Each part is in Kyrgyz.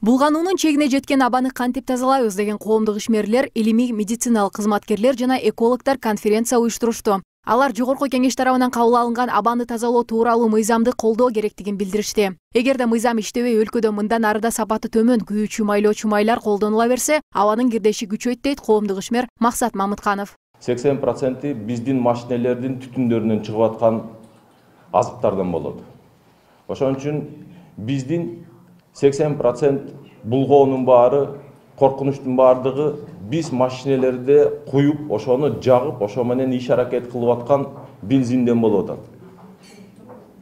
Булгануунун чегине жеткен абаны кантип тазалайбыз деген коомдук ишмерлер, илимий медициналык кызматкерлер жана экологдор конференция уюштурушту. Алар жогорку кеңеш тарабынан кабыл алынган абаны тазалоо тууралуу мыйзамды колдоо керектигин билдиришти. Эгерде мыйзам иштебей өлкөдө мындан арыда сапаты төмөн күйүүчү майлоочу майлар колдонула берсе, абанын кирдеши күчөйт дейт коомдук ишмер Максат Мамытканов. 80% биздин машинелердин түтүндөрүнөн чыгып аткан азыктардан болот. Ошон үчүн биздин 80% булгоонун баары, коркунучтун баардыгы биз машинелерде куюп, ошону жагып, ошо менен иш аракет кылып аткан бензинден болуп атат.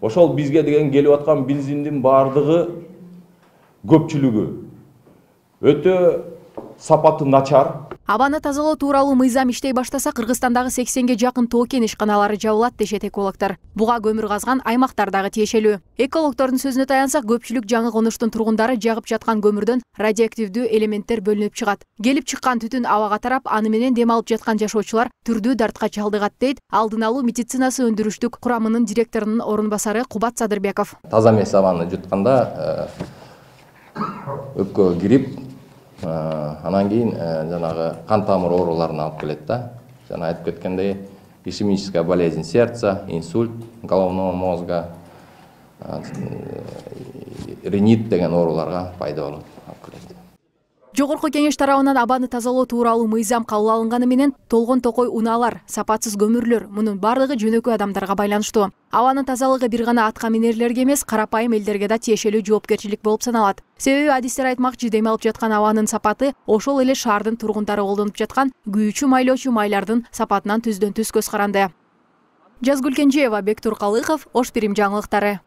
Ошол бизге деген келип аткан бензиндин баардыгы көпчүлүгү өтө сапаты начар. Абаны тазалоо тууралуу мыйзам иштей баштаса, Кыргызстандагы 80ге жакын тоо кен ишканалары жабылат дешет экологдор. Буга көмүр казган аймактар дагы тиешелүү. Экологдордун сөзүнө таянсак, көпчүлүк жаңы конуштун тургундары жагып жаткан көмүрдөн радиоактивдүү элементтер бөлүнүп чыгат. Келип чыккан түтүн абага тарап, аны менен дем алып жаткан жашоочулар түрдүү дартка чалдыгат дейт алдын алуу медицинасы өндүрүштүк курамынын директорунун орун басары Кубат Садырбеков. Таза эмес абаны жутканда өпкөгө кирип, анан кийин жанагы кан тамыр ооруларына алып келет да. Жана айтып кеткендей, ишемическая болезнь сердца, инсульт головного мозга, ринит деген ооруларга пайда болот. Жогорку кеңеш тарабынан абаны тазалоо тууралуу мыйзам кабыл алынганы менен толгон токой унаалар, сапатсыз көмүрлөр, мунун бардыгы жөнөкөй адамдарга байланыштуу. Абанын тазалыгы бир гана атка минерлерге эмес, карапайым элдерге да тиешелүү жоопкерчилик болуп саналат. Себеби адистер айтмакчы, дем алып жаткан абанын сапаты ошол эле шаардын тургундары колдонуп жаткан күйүүчү майлоочу майлардын сапатынан түздөн түз көз каранды. Жазгүл Кенжеева, Бектур Калыхов, Ош Пирим жаңылыктары.